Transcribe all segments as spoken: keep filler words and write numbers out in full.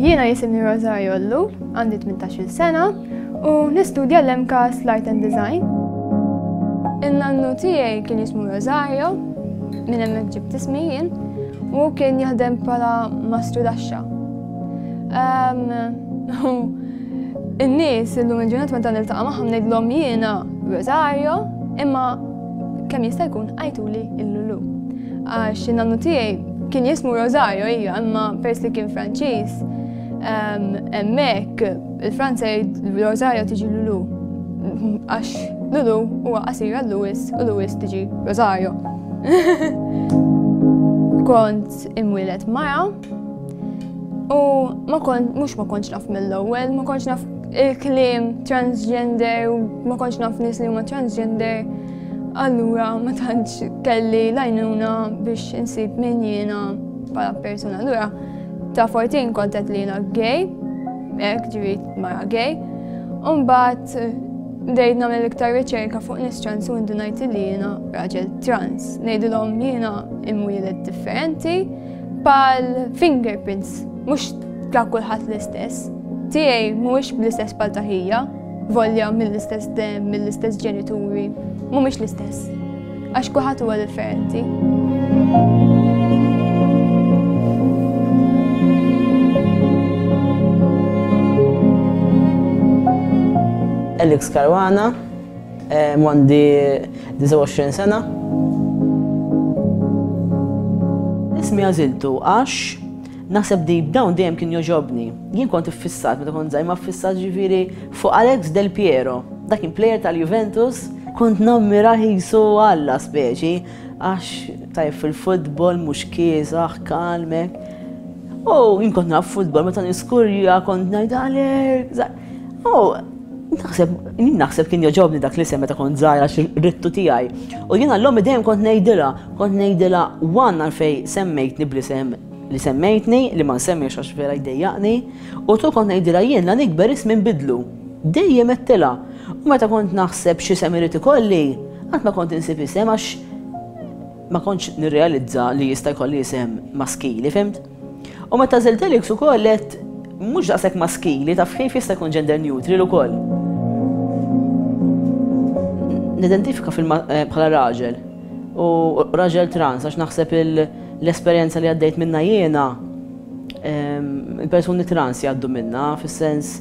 Jiena jisimni Rosario Ellul, għandi tmintax-il sena u nistudja l-M CAST Light and Design. In-nannu tiegħi kien jismu Rosario, minn hemmhekk ġibt ismi jien, u kien jaħdem bħala mastru daxxa. In-nies illum il-ġurnata meta niltaqa' magħhom ngħidlhom jiena Rosario, imma kemm jista' jkun għajtuli il-Lulu. Għax in-nannu tiegħi kien jismu Rosario hija, imma pers li kien Franċiż, hemmhekk il-Franza Rosario tiġi Lulu. Għax Lulu huwa qasir għal Louis u Louis tiġi Rosario. Kont imwieled mara u ma kont, mhux ma kontx naf mill-ewwel, ma kontx naf il-kliem transgender u ma kontx naf nies li huma transgender. Allura ma tantx kelli l-għajnuna biex insib min jiena bħala persuna. Allura ta' erbatax kont qed li jiena gay, hekk ġifieri mara gay. U mbagħad bdejt nagħmel iktar riċerka fuq nies trans u ndunajt li jiena raġel trans. Ngħidilhom jiena imwieled differenti bħal fingerprints, mhux ta' kulħadd l-istess. Tiegħi mhuwiex bl-istess bħal ta' ħija, volja mill-istess dem, mill-istess ġenituri, mhumiex l-istess. Għax kulħadd huwa differenti. Alex Caruana, għandi disgħa u għoxrin sena. Ismi għażiltu għax naħseb deep down dejjem kien jogħġobni. Jien kont iffissat meta kont żgħir, ma ffissat ġifieri fuq Alex Del Piero. Dak kien player tal-Juventus, kont nammira qisu Alla speċi, għax tajb fil-futbol, mhux kiesaħ, kalmek. U jien kont naf futbol, meta niskurja kont ngħid "Alex". U naħseb, jien naħseb kien jogħġobni dak l-isem meta kont żgħira għax ridtu tiegħi. U jiena l-ommi dejjem kont ngħidilha, kont ngħidilha one għalfejn semmejtni bl-isem li semmejtni, li ma nsemmix għax vera jdejjaqni, u tu kont ngħidilha jien la nikber ismi nbidlu. Dejjem għedtilha. U meta kont naħseb xi isem irid ikolli, qatt ma kont insib isem għax ma kontx nirrealizza li jista' jkolli isem maskili, fhimt? U meta għażilt Alex ukoll għedt mhux daqshekk maskili, taf kif, jista' jkun gender neutral ukoll. Nidentifika eh, bħala raġel u raġel trans għax naħseb l-esperjenza li għaddejt minna jiena il-persuni trans jgħaddu minna, fis-sens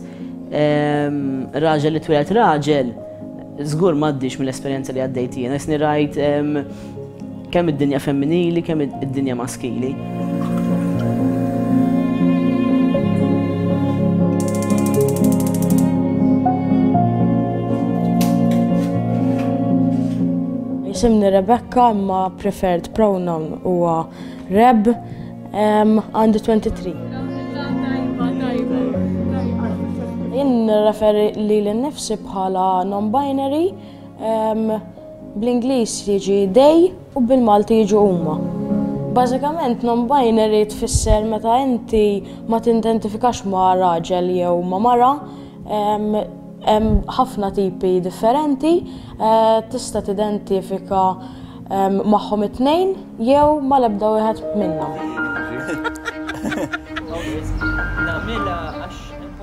raġel li twieled raġel żgur m'għaddix mill-esperjenza li għaddejt jiena, jisni rajt kemm id-dinja femminili, kemm id-dinja maskili. Jisimni Rebecca, imma preferred pronoun huwa Reb, għandi tlieta u għoxrin. Jien nirreferi lili nnifsi bħala non-binary, bl-Ingliż jiġi they u bil-Malti jiġu huma. Bażikament non-binary tfisser meta inti ma tidentifikax ma' raġel jew ma' mara, hemm ħafna tipi differenti, eh, tista' tidentifika magħhom it-tnejn jew mal-ebda wieħed minnhom.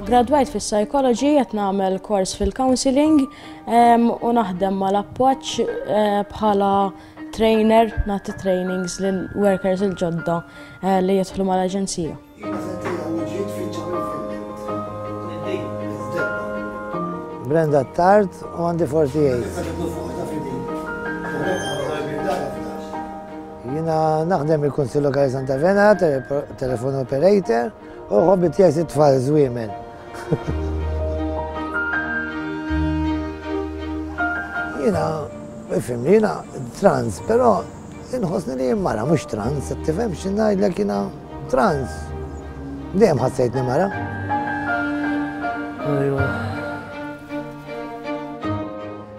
Gradwajt fis-psychology, qed nagħmel kors fil-counseling u naħdem mal-Appoġġ eh, bħala trainer, nagħti trainings lil workers il-ġodda eh, li jidħlu mal-aġenzija. Brenda Tart u għandi erbgħa u aħdax. Jiena naħdem il-Kunsill Lokali Santa Venera, telephone operator, u hobby tiegħi tfal żwiemel. Jiena, ifhimni, jiena trans, però inħossni li jien mara, mhux trans, tifhem x'ngħidlek, jiena trans. Dejjem ħassejtni mara. Ajwa.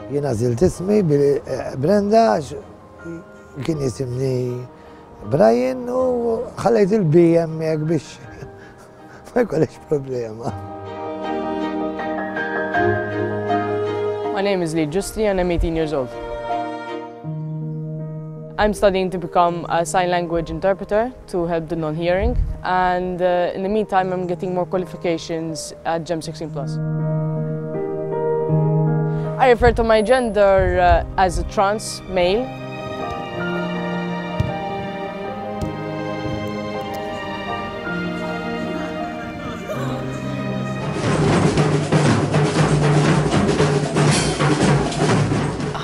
Jiena għażilt ismi Brenda għax kien jisimni Brian u ħallejt il-B hemmhekk biex ma jkollix problema. My name is Lee Justi and I'm eighteen years old. I'm studying to become a sign language interpreter to help the non-hearing. and uh, in the meantime I'm getting more qualifications at GEM sixteen plus. I refer to my gender uh, as a trans male.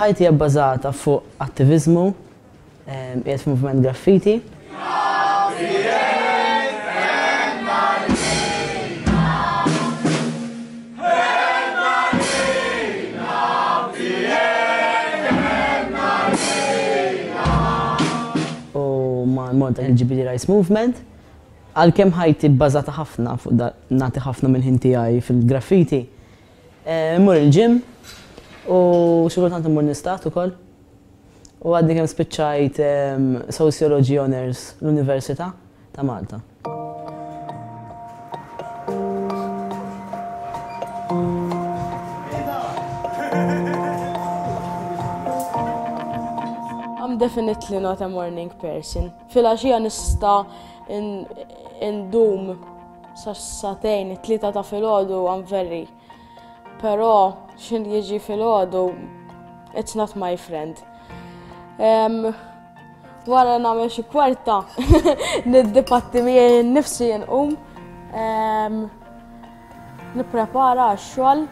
Ħajti hija bbażata fuq attiviżmu, qiegħed f'moviment graffiti. U ma' Malta L G B T Rights Movement. Għalkemm ħajti bbażata ħafna fuq nagħti ħafna mill-ħin tiegħi fil-graffiti. Immur il-gym u xi kultant immur nistat ukoll. U għadni kemm spiċċajt Sociology Honours l-Università ta' Malta. I'm definitely not a morning person. Filgħaxija nista' indum sa sagħtejn, it-tlieta ta' filgħodu I'm very. Però x'in jiġi filgħodu it's not my friend. Wara nagħmel xi kwarta niddipatti miegħi nnifsi nqum, nipprepara għax-xogħol.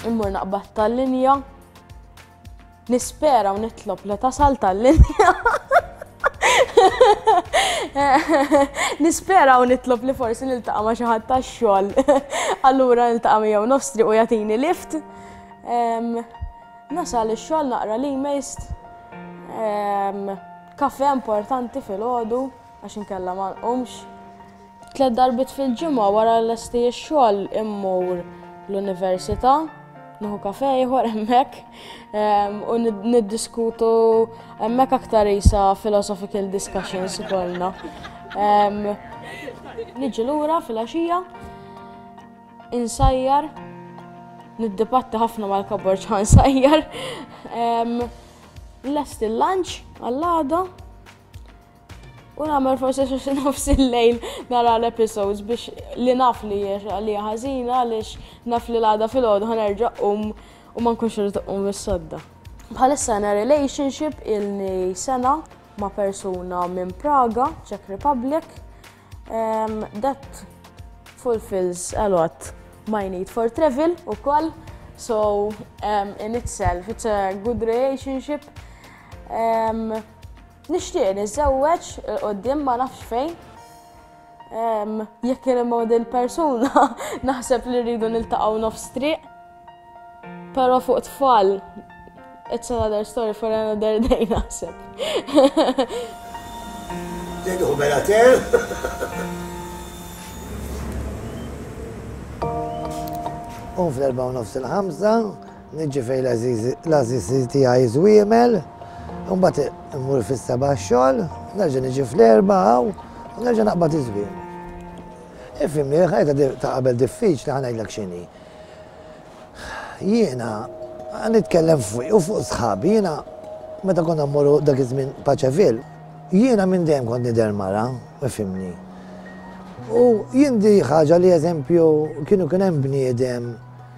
Immur naqbad tal-linja, nispera u nitlob li tasal tal-linja. Nispera u nitlob li forsi niltaqa' ma' xi ħadd tax-xogħol. Allura niltaqa' miegħu nofs triq u jagħtini lift. Nasal ix-xogħol naqra l-emails. Kafe importanti filgħodu għax inkella ma nqumx. Tliet darbiet fil-ġimgħa wara lesti x-xogħol immur l-università, nieħu kafe ieħor hemmhekk u niddiskutu hemmhekk aktar isa philosophical discussions ikollna. Niġi lura filgħaxija, insajjar, niddibatti ħafna mal-kabor ċa nsajjar. Lest il-lunch għall-għada u nagħmel forsi xi nofs il-lejl nara l-episodes biex li naf li hija ħażina għaliex naf li l-għada filgħodu ħa nerġa' nqum u ma nkunx irid nqum mis-sodda. Bħalissa għandna relationship ilni sena ma' persuna minn Praga, Czech Republic. That fulfills a lot my need for travel ukoll, so um, in itself it's a good relationship. Um, Nixtieq niżżewweġ il-qoddim ma nafx fejn. Jekk kien hemm il persuna naħseb li rridu niltaqgħu nofs triq. Però fuq tfal it's another story for another day naħseb. Tgħidu mela ter. U fl-erbgħa u nofs il-ħamsa, niġi fejn l-għażiż tiegħi żwiemel. Mbagħad immur fis-seba' x-xogħol, nerġa' niġi fl-erbgħa hawn u nerġa' naqbad iż-żmien. Ifhimni, ħajta ta' qabel diffiċli ħa ngħidlek x'inhi. Jiena nitkellem fuq u fuq sħabi, jiena meta konna mmorru dak iż-żmien Paċevil, jiena minn dejjem kont nidher mara, ifhimni. U jien di ħaġa li eżempju kienu kien hemm bniedem,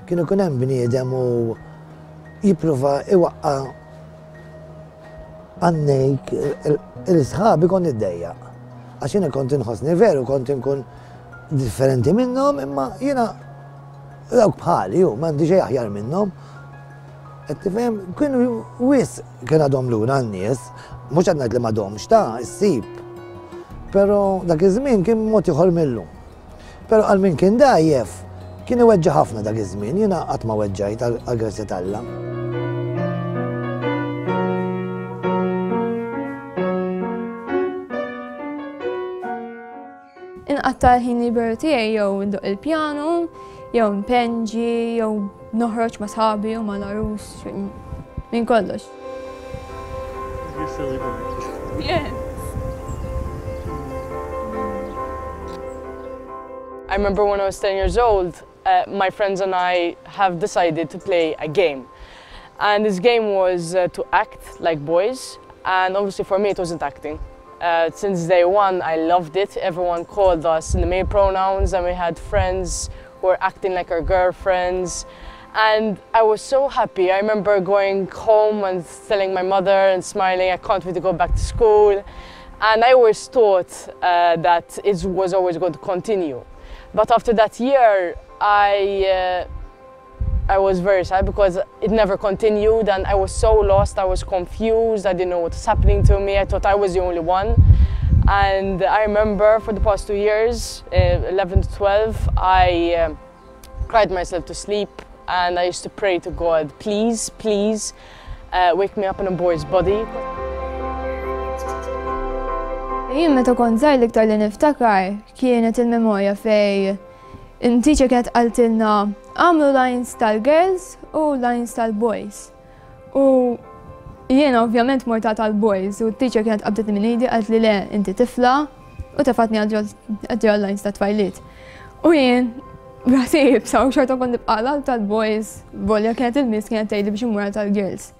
kienu kien hemm bniedem u jippruva iwaqqa' għannejk il-sħabi kont niddejjaq. Għax jiena kont inħossni veru, kont inkun differenti minnhom, imma jiena dawk bħali ju, m'għandi xejn aħjar minnhom. Qed tifhem, kienu wisq kien għadhom lura n-nies, mhux qed ngħid li m'għadhomx ta' issib. Però dak iż-żmien kien mod ieħor millum. Però għal min kien dgħajjef, kien iweġġa' ħafna dak iż-żmien, jiena qatt ma weġġajt għall-grazzja t'Alla. Inqatta' l-ħin liberu tiegħi jew ndoqq il-pjanu, jew npenġi, jew noħroġ ma' sħabi u ma' l-għarus, minn kollox. You're silly boy. Yes. I remember when I was ten years old, uh, my friends and I have decided to play a game. And this game was uh, to act like boys, and obviously for me it wasn't acting. Uh, since day one, I loved it. Everyone called us in the male pronouns, and we had friends who were acting like our girlfriends. And I was so happy. I remember going home and telling my mother and smiling, I can't wait to go back to school. And I always thought uh, that it was always going to continue. But after that year, I, uh, I was very sad because it never continued, and I was so lost, I was confused, I didn't know what was happening to me, I thought I was the only one. And I remember for the past two years, uh, eleven to twelve, I uh, cried myself to sleep, and I used to pray to God, please, please, uh, wake me up in a boy's body. Jien meta kont żgħir l-iktar li niftakar kienet il-memorja fej in-teacher kienet qaltilna għamlu lines tal-girls u lines tal-boys. U jiena ovvjament morta tal-boys u t-teacher kienet qabdetni minn idi qalt li le inti tifla u tefatni għal lines ta' tfajliet. U jien rasi iebsa u xorta kont nibqa' tal-boys, volja kienet il-miss kienet tgħidli biex immur tal-girls.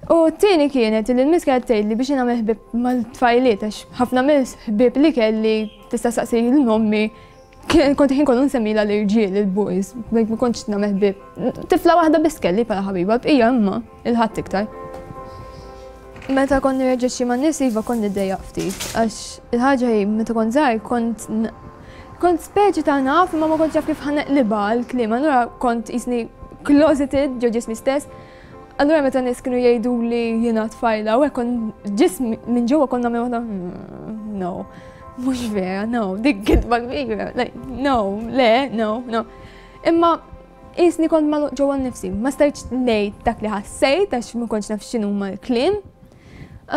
U t-tieni kienet li l-miss kienet tgħidli biex nagħmel ħbieb mal-tfajliet għax ħafna mill-ħbieb li kelli tista' saqsi lil ommi kont ħin kollu nsemmilha l-irġiel, il-boys, ma kontx nagħmel ħbieb. Tifla waħda biss kelli bħala ħabiba, bqija imma il-ħadd iktar. Meta kont nirreġixxi man-nies iva kont niddejjaq ftit, għax il-ħaġa hi meta kont żgħir kont kont speċi ta' naf imma ma kontx naf kif ħa neqlibha l-kliem, allura kont qisni closeted ġo ġismi stess. Allura meta nies kienu jgħidu li jiena tfajla u hekk kont ġismi minn ġewwa kont nagħmel waħda no, mhux vera, no, dik kitba kbira, like no, le, no, no. Imma qisni kont magħluq ġewwa nnifsi, ma stajtx ngħid dak li ħassejt għax ma kontx naf x'inhuma l-kliem.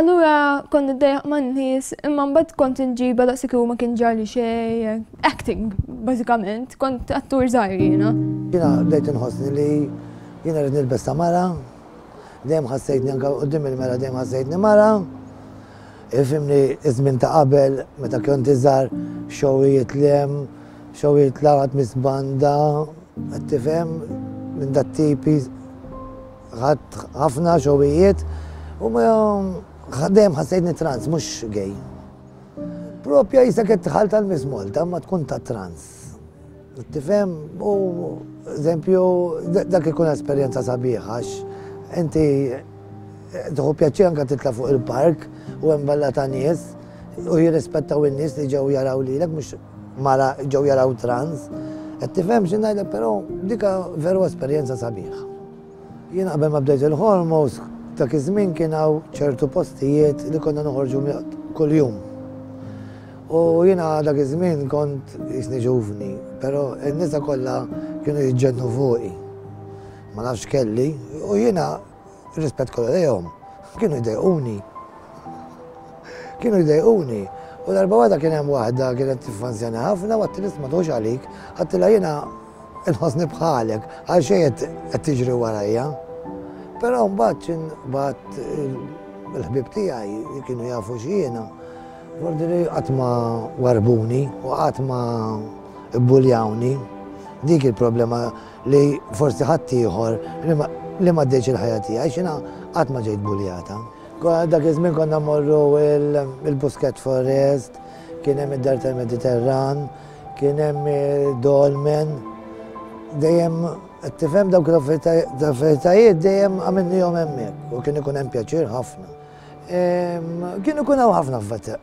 Allura kont niddejjaq man-nies, imma mbagħad kont inġibha daqshekk ma kien ġarli xejn, acting bażikament, kont attur żgħir jiena. Jiena bdejt inħossni li jiena rrid nilbes ta' mara, dejjem ħassejtni anke quddiem il-mera dejjem ħassejtni mara. Ifhimni iż-żmien ta' qabel meta kont iżgħar xowijiet lem, xowijiet laqat misbanda, qed tifhem minn dat tipi ħadd ħafna xowijiet u ma dejjem ħassejtni trans, mhux gay. Propja jisek qed tħall tal-Miss Malta ma tkun ta' trans. Tifhem u eżempju dak ikun esperjenza sabiħa għax inti tieħu pjaċir anke titla' fuq il-park u hemm balla ta' nies u jirrispettaw in-nies li ġew jaraw lilek mhux mara ġew jaraw trans. Qed tifhem xi ngħidlek, però dika veru esperjenza sabiħa. Jien qabel ma bdejt il-hormones dak iż-żmien kien hawn ċertu postijiet li konna noħorġu kuljum. U jiena dak iż-żmien kont jisni ġuvni, però n-nisa kollha kienu jiġġennu fuqi. Ma nafx kelli, u jiena rispett kollha lejhom, kienu jdejquni. Kienu jdejquni. U darba waħda kien hemm waħda kienet tiffanzjani ħafna u għattilha ma tħux għalik, għattilha jiena nħossni bħalek, għal xejn qed tiġri warajja. Però mbagħad x'in bagħat il-ħbieb tiegħi li kienu jafu x'jiena, fordi li qatt ma warbuni u qatt ma bbuljawni. Dik il-problema li forsi ħadd ieħor li ma ddeċ il-ħajja tiegħi għax jiena qatt ma ġejt buljata. Dak iż-żmien konna mmorru il-Busquet Forest, kien hemm id-Dar tal-Mediterran, kien hemm Dolmen, dejjem tifhem dawk l-affarijiet dejjem għamilnihom hemmhekk u kien ikun hemm pjaċir ħafna. Kienu ikun hawn ħafna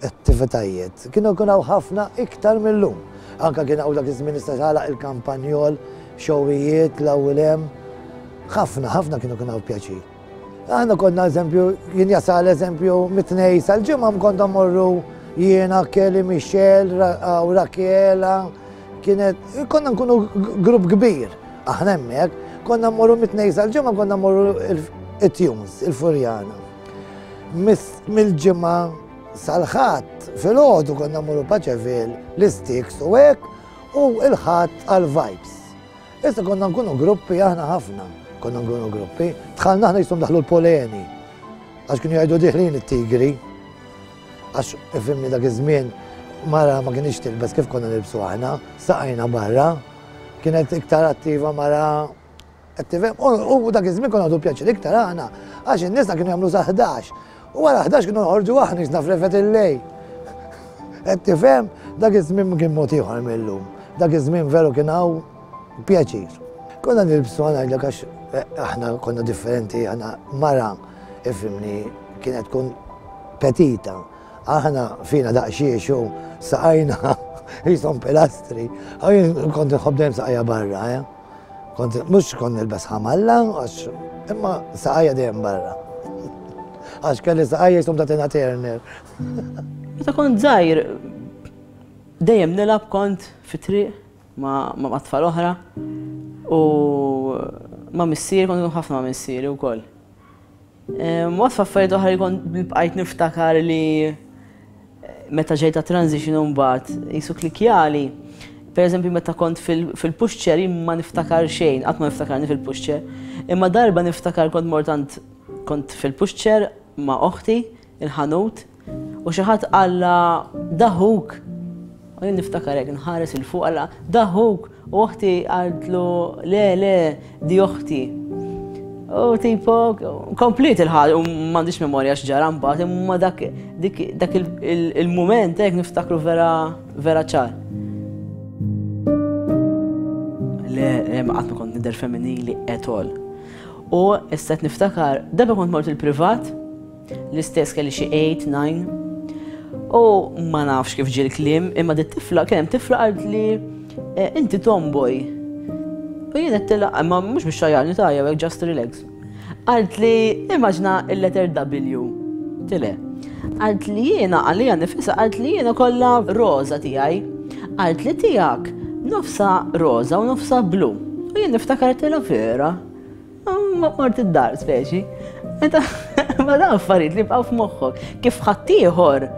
attivitajiet, kienu ikun hawn ħafna iktar mill-lum. Anka kien hawn dak iż-żmien issa tagħlaq il-kampanjol, xowijiet, l-ewwel hemm. Ħafna, ħafna kienu ikun hawn pjaċir. Aħna konna eżempju, jien jasal eżempju mit-tnejn sal-ġimgħa konna mmorru jiena, Kelly, Michelle u Rakiela, kienet konna nkunu grupp kbir. Aħna hemmhekk konna mmorru mit-tnejn sal-ġimgħa konna mmorru it-Tunes, il-Furjana. Mill-ġimgħa sal-Ħadd filgħodu konna mmorru Paċeville, l-Sticks u hekk u l-Ħadd għal-Vibes. Issa konna nkunu gruppi aħna ħafna, konna nkunu gruppi. Dħalna aħna jisom daħlu l-poleni, għax kienu jgħidu diħlin it-tigri. Għax ifhimni dak iż-żmien mara ma kienx tilbes kif konna nilbsu aħna, saqajna barra, kienet iktar attiva mara. U dak iż-żmien konna għadu pjaċir iktar aħna, għax in-nisa kienu jagħmlu sa ħdax. U wara ħdax kienu noħorġu aħna jisna frefet il-lej. Qed tifhem, dak iż-żmien kien mod ieħor mill-lum. Dak iż-żmien veru kien hawn pjaċir. Konna nilbsu ngħidlek għax aħna konna differenti, aħna mara ifhimni kienet tkun petita. Aħna fina daqsxiex u saqajna jisom pilastri. Jien kont nħobb dejjem saqajja barra, eh? Kont mhux kont nilbes ħamalla, għax imma saqajja dejjem barra. Għax kelli saqajja jisom ta' Tina Turner. Meta kont żgħir dejjem nilgħab kont fit-triq ma' ma' tfal oħra u ma' missieri kont ħafna ma' missieri wkoll. Waqt affarijiet oħra li kont bqajt niftakar li meta ġejta transition mbagħad jisu klikjali. Per eżempju meta kont fil-pushchair jien ma niftakar xejn, qatt ma niftakarni fil-pushchair. Imma darba niftakar kont mort għand kont fil-pushchair ma' oħti, il-ħanut, u xi ħadd qalla daħuk. U jien niftakar hekk nħares il fuq qalla daħuk u oħti qaltlu le le di oħti. U tipo komplet il-ħaġa u m'għandix memorja x'ġara mbagħad, imma dak dak il-mument hekk niftakru vera vera ċar. Le, le ma qatt ma kont nidher femminili at all. U issa qed niftakar, darba kont mort il-privat, l-istess kelli xi eight, nine, u ma nafx kif ġie l-kliem, imma dit tifla, kien hemm tifla qalt li inti tomboy. U jien għedtilha, imma mhux biex xajjarni ta' jew hekk just relax. Qalt li immaġna il-letter W. Tile. Qalt li jiena għalija nifisha, qalt li jiena kollha roża tiegħi. Qalt li tiegħek nofsa roża u nofsa blu. U jien niftakar għedtilha vera. Ma mort id-dar speċi. Ma dan affarijiet li bqgħu f'moħħok. Kif ħaddieħor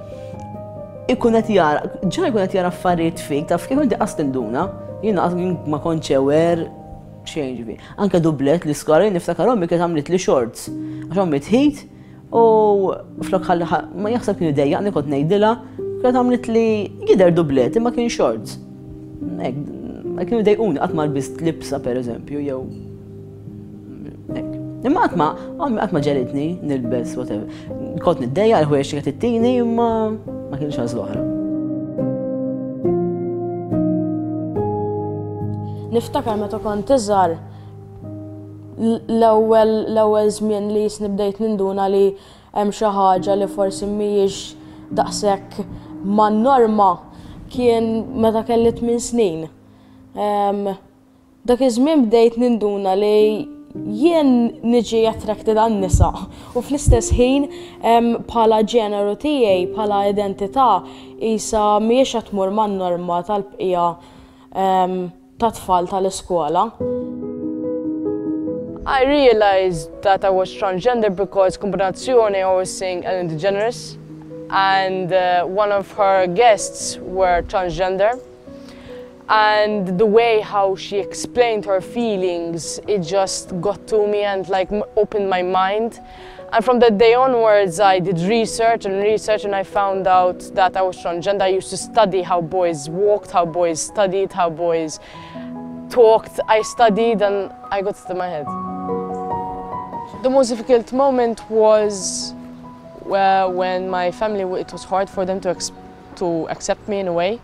ikun qed jara, ġa jkun qed jara affarijiet fik, taf kif inti qas tinduna, jiena ma kontx aware xejn ġifieri. Anke dublet li skora jien niftakar ommi kienet għamlet li shorts. Għax ommi tħit u flok ħalli ma jaħseb kienu dejjaqni kont ngħidilha, kienet għamlet li jidher dublet imma kien shorts. Hekk, kienu dejquni qatt ma lbist libsa pereżempju jew hekk. Imma qatt ma ommi qatt ma ġelitni nilbes whatever. Kont niddejjaq il-ħwejjeġ li qed ittini imma ma kienx għażla oħra. Niftakar meta kont iżgħar l-ewwel l-ewwel żmien li jisni bdejt ninduna li hemm xi ħaġa li forsi mhijiex daqshekk man-norma kien meta kelli tmien snin. Dak iż-żmien bdejt ninduna li jien niġi attracted għan-nisa u fl-istess ħin bħala ġeneru tiegħi, bħala identità, isa mhijiex qed tmur man-norma tal-bqija ta' tfal tal-iskola. I realized that I was transgender because Kombinazzjoni I was seeing Ellen DeGeneres and uh, one of her guests were transgender. And the way how she explained her feelings, it just got to me and like opened my mind. And from that day onwards, I did research and research and I found out that I was transgender. I used to study how boys walked, how boys studied, how boys talked. I studied and I got it in my head. The most difficult moment was uh, when my family, it was hard for them to, to accept me in a way.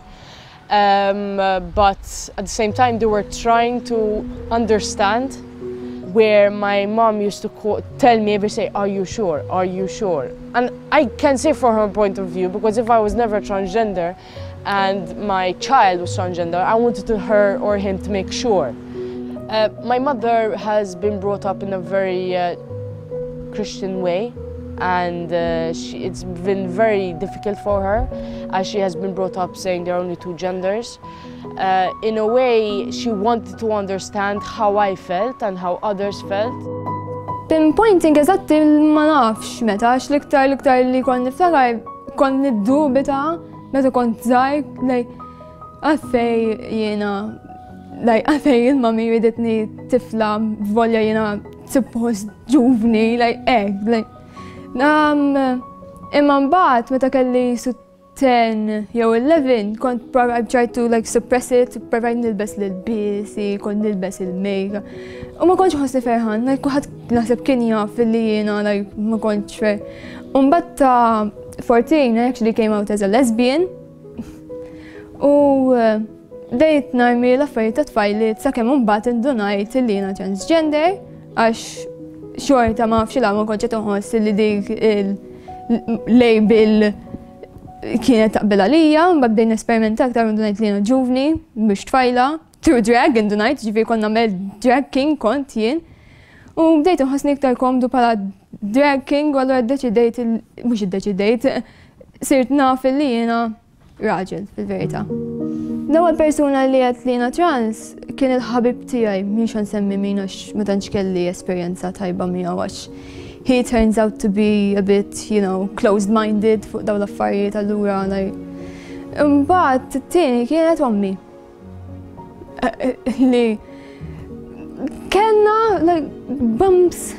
Um, uh, but at the same time, they were trying to understand where my mom used to call, tell me every day, are you sure, are you sure? And I can say from her point of view, because if I was never transgender and my child was transgender, I wanted to her or him to make sure. Uh, my mother has been brought up in a very uh, Christian way, and uh, she, it's been very difficult for her, as she has been brought up saying there are only two genders. Uh, in a way, she wanted to understand how I felt and how others felt. Pinpointing eżatti ma nafx meta, għax l-iktar l-iktar li kont niftakar kont niddubita meta kont żgħir, like għalfejn jiena Like, għalfejn il-mami riditni tifla volja jiena suppost ġuvni, like, hekk, like. Um, imma mbagħad meta kelli su ten jew eleven, kont I tried to like suppress it, provajt nilbes l-ilbiesi, kont nilbes il-make. U ma kontx nħossni ferħan, like kulħadd naħseb kien jaf li jiena like ma kontx fer. U mbagħad ta' fourteen I actually came out as a lesbian. U eh, bdejt narmi l-affarijiet ta' tfajliet sakemm mbagħad indunajt li jiena transgender, għax xorta ma nafx la ma kontx qed inħoss li dik il-label kienet taqbel għalija. Mbagħad bdejt nesperimenta aktar, indunajt li jiena ġuvni, mhux tfajla, through drag indunajt, ġifieri kont nagħmel drag king kont jien. U bdejt nħossni iktar komdu bħala drag king u allura ddeċidejt, mhux iddeċidejt, sirt naf li jiena raġel fil-verità. L-ewwel persuna li għedt li jiena trans kien il-ħabib tiegħi, mhix nsemmi min għax ma tantx kelli esperjenza tajba miegħu, għax he turns out to be a bit, you know, closed-minded fuq dawn l-affarijiet, allura like. Imbagħad it-tieni kienet ommi. Li kellna like bumps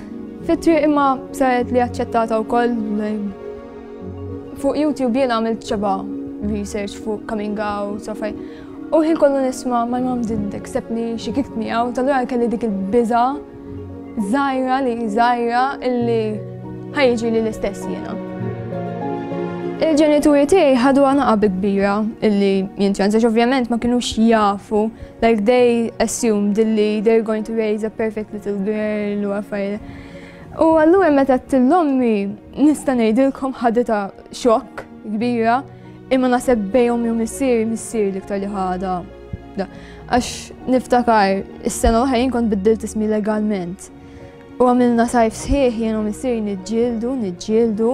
fit-triq, imma saret li aċċettata wkoll, like. Fuq YouTube jien għamilt xebgħa research fuq coming out, so faj. U ħin kollu nisma' "My mom didn't accept me, she kicked me out", allura kelli dik il-biża żgħira li żgħira illi ħa jiġri li l-istess jiena. Il-ġenituri tiegħi ħadu għana bi kbira illi jien trans, għax ovvjament ma kinux jafu, like they assumed illi they're going to raise a perfect little girl u affarijiet. U allura meta għedt lil ommi, nista' ngħidilkom ħaditha xokk kbira, imma naħseb bejn ommi u missieri, missieri l-iktar li ħadha. Għax niftakar, is-sena l-oħra jien kont biddilt ismi legalment. U għamilna sajf sħiħ jien u missieri niġġieldu, niġġieldu,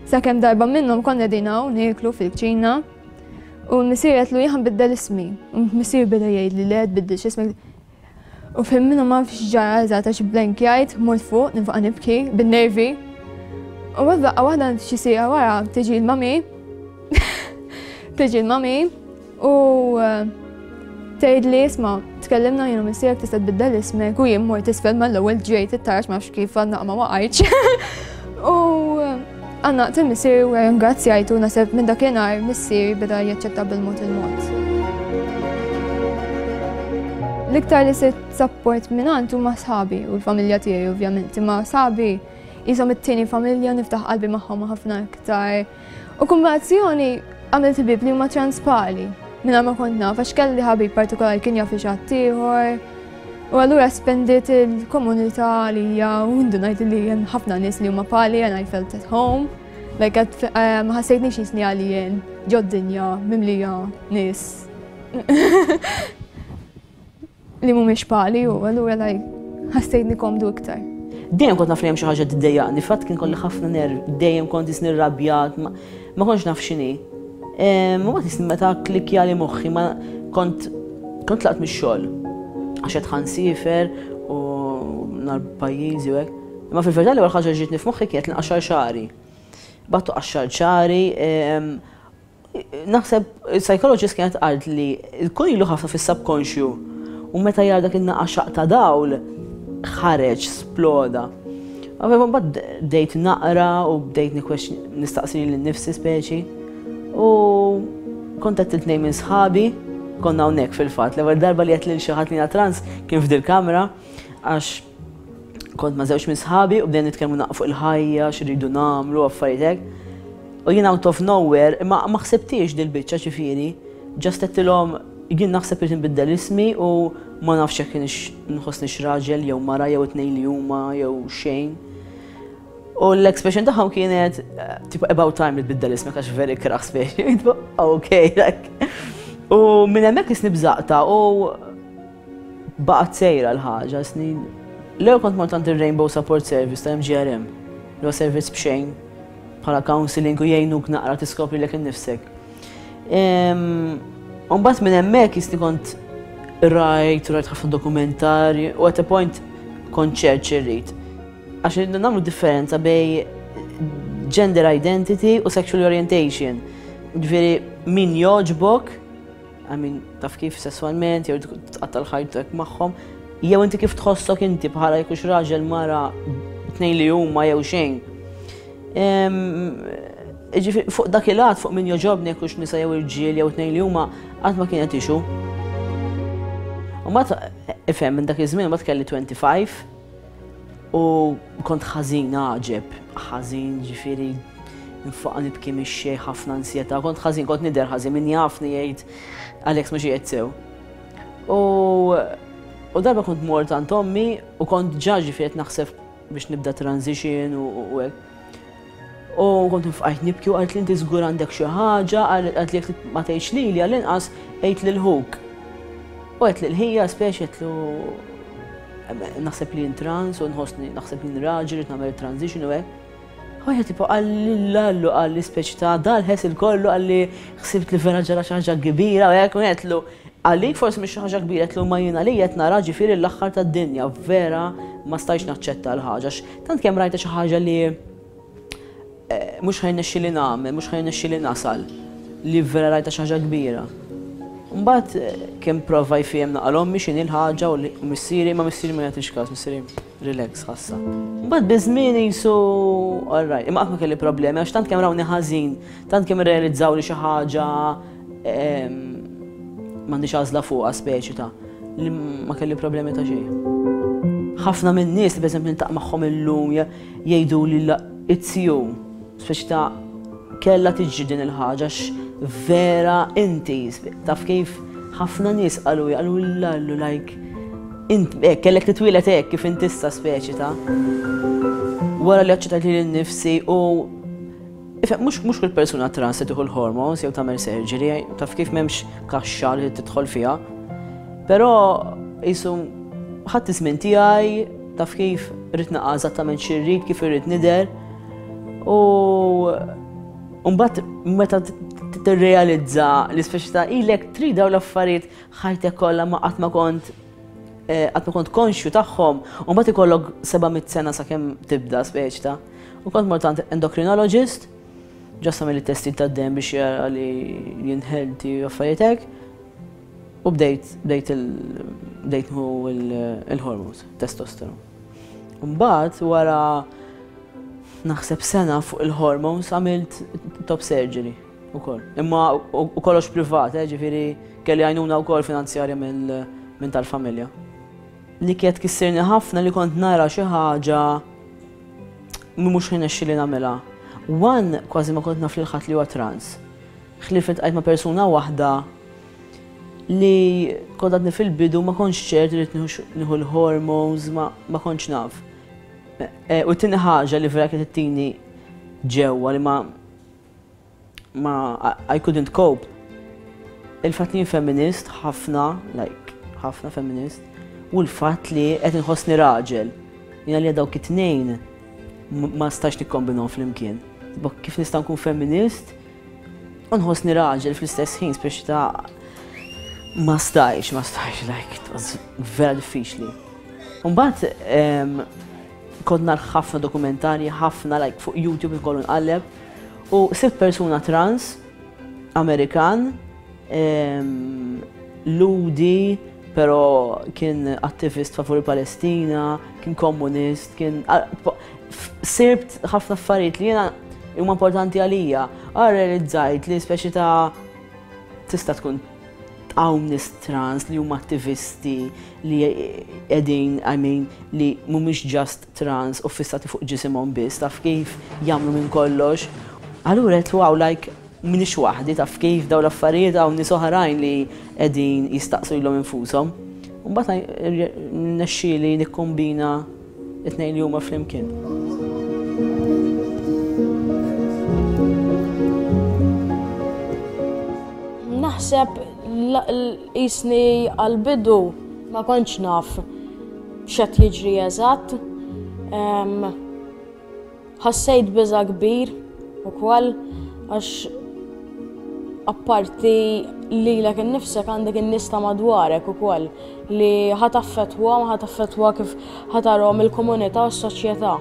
sakemm darba minnhom konna qegħdin hawn nieklu fil-kċina. U missieri għedtlu jien biddel ismi. U missieri beda jgħid li le, tbiddilx ismek. U fim minnhom ma nafx ġara eżatt għax blankjajt, mort fuq, nifqa' nibki bin-nervi. U daqqa waħda xi siegħa wara tiġi l-mami. Tiġi l-mami u eh, tgħid li isma', tkellimna jien u missierek, tista' tbiddel ismek, u jien mort isfel mal-ewwel, ġejt it-taraġ, ma nafx kif għandna ma waqajtx. U għannaqt il-missieri u ringrazzjajtu. Naħseb minn dakinhar missieri beda jaċċetta bil-mod il-mod. L-iktar li sibt support minn huma sħabi u l-familja tiegħi ovvjament, imma sħabi jisom it-tieni familja, niftaħ qalbi magħhom ħafna iktar. U kombinazzjoni għamilt ħbieb li huma trans bħali minn ma kont naf, għax kelli ħabib partikolari kien jaf xi ieħor. U allura espandiet il-komunità għalija u ndunajt li hemm ħafna nies li huma bħali and I felt at home. Like, ma ħassejtnix jisni għalijien ġod-dinja mimlija nies li mhumiex bħali u allura like ħassejtni komdu iktar. Dejjem kont naf li hemm xi ħaġa tiddejjaqni, fatt kien kolli ħafna nerv, dejjem kont jisni rrabjat, ma kontx naf x'inhi. Ma ma tisni meta klikjali moħħi, ma kont kont tlaqt mix-xogħol. Għax qed ħa nsifer u nar pajjiżi u hekk. Imma fil-verità l-ewwel ħaġa ġietni f'moħħi kienet nqaxxar xagħri. Battu qaxxar xagħri, naħseb psychologist kienet qalt li jkun ilu ħafna fis-subconscious u meta jara dak in-naqa ta' dawl ħareġ, sploda. Għaveva mbagħad bdejt naqra u bdejt nistaqsi lil nifsi speċi. U kont għedt tnejn minn sħabi, konna hawnhekk fil-fatt. L-ewwel darba li għedt lil xi ħadd li trans kien f'dil kamra, għax kont ma' żewġ minn sħabi u bdejna nitkellmu naqfu fuq il-ħajja, x'irridu nagħmlu, affarijiet hekk. U jien out of nowhere, imma ma ħsibtix dil-biċċa ġifieri, just għedtilhom jien naħseb irid nbiddel ismi u ma nafx jekk kienx nħossni raġel jew mara jew it-tnejn li huma jew xejn. U l-expression tagħhom kienet tipo "About time li tbiddel ismek għax very kraħ speċi." Ok, like. U minn hemmhekk isni bżaqta u baqgħet sejra l-ħaġa snin. L-ewwel kont mort għand il-Rainbow Support Service ta' M G R M, li huwa servizz b'xejn bħala counseling u jgħinuk naqra tiskopri lilek innifsek. Mbagħad minn hemmhekk jisni kont rajt, rajt ħafna dokumentarji u at a point kont ċert x'irrid. Għax nagħmlu differenza bejn gender identity u sexual orientation. Ġifieri min jogħġbok I mean, taf kif sessualment, jew tqatta' ħajtek magħhom, jew inti kif tħossok inti bħala jekk hux raġel, mara, tnejn li huma jew xejn. Ġifieri fuq dak il-għad, fuq min jogħġobni, jekk hux nisa jew irġiel jew tnejn li huma, qatt ma kienet issue. U mbagħad, ifhem, minn dak iż-żmien mbagħad kelli twenty-five u kont ħażin għaġeb, ħażin, ġifieri nfaqa' nibki mix-xejn, ħafna ansjetà, kont ħażin, kont nidher ħażin, min jafni jgħid Alex mhux qiegħed sew. U, u darba kont mort għand ommi u kont ġa ġifieri qed naħseb biex nibda transition u, u hekk. U kont nfqajt nibki u qalt li inti żgur għandek xi ħaġa, qalt li jekk ma tgħidx lili għall-inqas għid lil ħuk. U għedt lil ħija speċi għedtlu naħseb li jien trans u nħossni naħseb li jien raġel irid nagħmel transition u hekk. U ħija tipo qalli lallu, qalli speċi ta' dal-ħes il-kollu, qalli ħsibt li vera ġara xi ħaġa kbira u hekk, u għedtlu għalik forsi mhix xi ħaġa kbira, għedtlu ma jiena li qed nara ġifieri l-aħħar tad-dinja, vera ma stajtx naċċetta l-ħaġa, għax tant kemm rajta xi ħaġa li, eh, mhux ħa jirnexxieli nagħmel, mhux ħa jirnexxieli nasal, li vera rajta xi ħaġa kbira. Mbagħad, eh, kemm prova jfiem naqal ommi x'inhi l-ħaġa u li missieri, ma missieri ma jagħtix każ, missieri relax ħassa. Mbagħad biż-żmien jisu all right, imma qatt ma kelli problemi għax tant kemm rawni ħażin, tant kemm irrealizzaw li xi ħaġa, ehm, m'għandix għażla fuqha speċi ta' li ma kelli problemi ta' xejn. Ħafna minn nies li pereżempju niltaqa' magħhom illum jgħidu li la it's you, speċi ta' kella tiġi din il-ħaġa għax vera inti, taf kif ħafna nies qalu, qalu lallu like int hekk kellek titwieled hekk kif inti issa speċi ta'. Wara li aċċettajt lili nnifsi u ifhem, mhux, mhux kull persuna trans se tieħu l-hormones jew tagħmel surgery, taf kif m'hemmx kaxxa li tidħol fiha. Però jisu ħadd iż-żmien tiegħi, taf kif rrid naqa' eżattament xi rrid, kif irrid nidher. U mbagħad meta tirrealizza li speċi ta' ilek trid dawn l-affarijiet ħajtek kollha ma qatt ma kont, eh, qatt ma kont konxju tagħhom, u mbagħad ikollok seba' mitt sena sakemm tibda speċi ta'. U kont mort għand endocrinologist, ġast għamel it-testi tad-demm biex jara li jien healthy u affarijiet hekk. U bdejt, bdejt il-, bdejt nieħu il-hormones, testosteron. Mbagħad wara naħseb sena fuq il-hormones għamilt top surgery ukoll. Imma u kollox privat, eh, ġifieri kelli għajnuna wkoll finanzjarja mill-, minn tal-familja. Li kienet kissirni ħafna li kont nara xi ħaġa mhux ħinexxi li nagħmilha. One, kważi ma kont naf lil ħadd li huwa trans. Ħlief iltqajt ma' persuna waħda li kont għadni fil-bidu ma kontx ċert li nieħu l-hormones, ma, ma kontx naf. E, u t-tieni ħaġa li vera kienet ittini ġewwa li ma, ma I couldn't cope. Il-fatt li jien feminist ħafna, like ħafna feminist, u l-fatt li qed inħossni raġel. Jiena li dawk it-tnejn ma stax nikkombinhom flimkien. Tipo, kif nista' nkun feminist u nħossni raġel fl-istess ħin, speċi ta' ma stajx, ma stajx, like, it was vera diffiċli. Mbagħad, em, kont nar ħafna dokumentarji, ħafna, like, fuq YouTube ikollu nqalleb, u sibt persuna trans, Amerikan, em, Ludi, pero kien attivist favur Palestina, kien komunist, kien, a, po-, f-, sibt ħafna affarijiet li jiena huma importanti għalija. Għar realizzajt li speċi ta' tista' tkun hawn nies trans li huma attivisti li qegħdin, I mean, li mhumiex just trans u fissati fuq ġisimhom biss, taf kif jagħmlu minn kollox. Allura qed wow, like, m'iniex waħdi, taf kif dawn l-affarijiet hawn nies oħrajn li qegħdin jistaqsu lilhom infushom. U mbagħad nexxieli nikkombina it-tnejn li huma flimkien. Naħseb qisni għal-bidu ma kontx naf x'qed jiġri eżatt. Em, ħassejt biża' kbir ukoll għax apparti lilek innifsek għandek in-nies ta' madwarek ukoll li ħa taffettwa, ma ħa taffettwa kif ħa tarahom il-komunità u s-soċjetà.